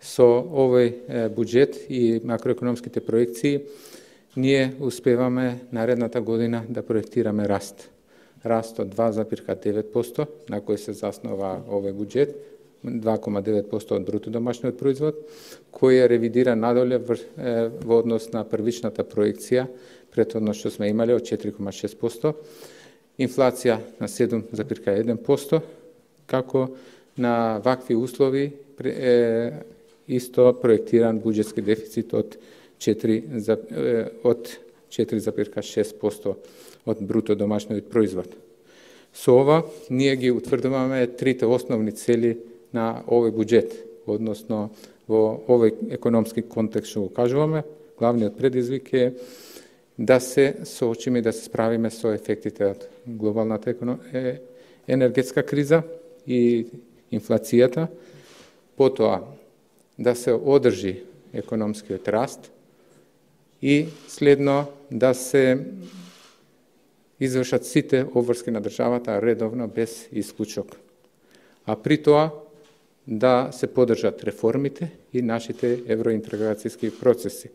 Со овој буџет и макроекономските проекции ние успеваме наредната година да проектираме раст. Раст од 2,9% на кој се заснова овој буџет, 2,9% од бруто домашниот производ, кој е ревидира надоле во однос на првичната проекција, претходно што сме имале од 4,6%, инфлација на 7,1%, како на вакви услови исто проектиран буџетски дефицит од 4,6% од бруто домашниот производ. Со ова ние ги утврдуваме трите основни цели на овој буџет, односно во овој економски контекст што го кажуваме, главниот предизвик е да се соочиме и да се справиме со ефектите од глобалната енергетска криза и инфлацијата, потоа да се одржи економскиот раст и следно да се извршат сите обврски на државата редовно без исклучок. А при тоа да се поддржат реформите и нашите евроинтеграцијски процеси.